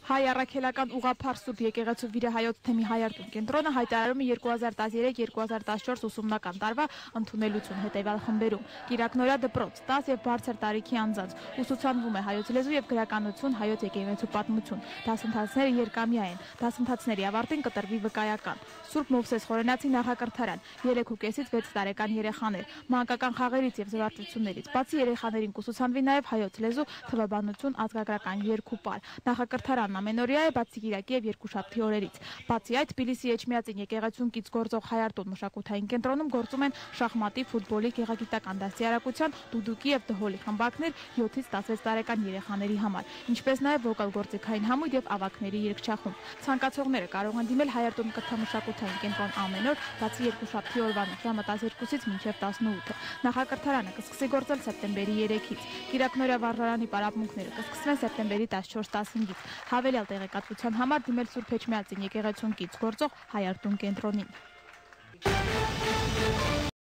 Հայ առաքելական ուղղափառ Սուրբ եկեղեցու վիրահայոց թեմի հայարտուն կենտրոնը հայտարարում է 2013-2014 ուսումնական տարվա ընդունելություն հետևյալ խմբերում. Կիրակնորյա դպրոց, 10 եւ բարձր տարիքի անձանց, ուսուցանվում է հայոց լեզու եւ գրականություն, հայոց եկեղեցու պատմություն, դասընթացները երկամյա են, դասընթացների ավարտին կտրվի վկայական, Սուրբ Մովսես Խորենացի նախակրթարան, 3,5-ից 6 տարեկան երեխաներ, մանկական խաղերից եւ զվարճություններից, բացի երեխաներին կուսուցանվի նաեւ հայոց լեզու, թվաբանություն, ազգագրական երկու պար, նախակրթարանն ամենօրյա է բացի կիրակի եւ երկուշաբթի օրերից։ Բացի այդ, Թբիլիսի Էջմիածին եկեղեցուն կից գործող հայարտուն մշակութային կենտրոնում գործում են շախմատի, ֆուտբոլի, գեղագիտական դաստիարակության, դուդուկի եւ դհոլի խմբակներ 7-ից 16 տարեկան երեխաների համար, ինչպես նաեւ վոկալ գործիքային համույթ եւ ավագների երգչախումբ։ Ցանկացողները կարող են դիմել հայարտուն կրթամշակութային կենտրոն ամեն օր, բացի երկուշաբթի օրվանից ժամը 12-ից մինչև 18։ Նախակրթարանը կսկսի գործել սեպտեմբերի 3-ից։ Կիրակնորյա վարժարանի պարապմունքները կսկսվեն սեպտեմբերի 14-15-ից։ Հավելյալ տեղեկատվության համար դիմել Սուրբ Էջմիածին եկեղեցուն կից գործող հայարտուն կենտրոնին։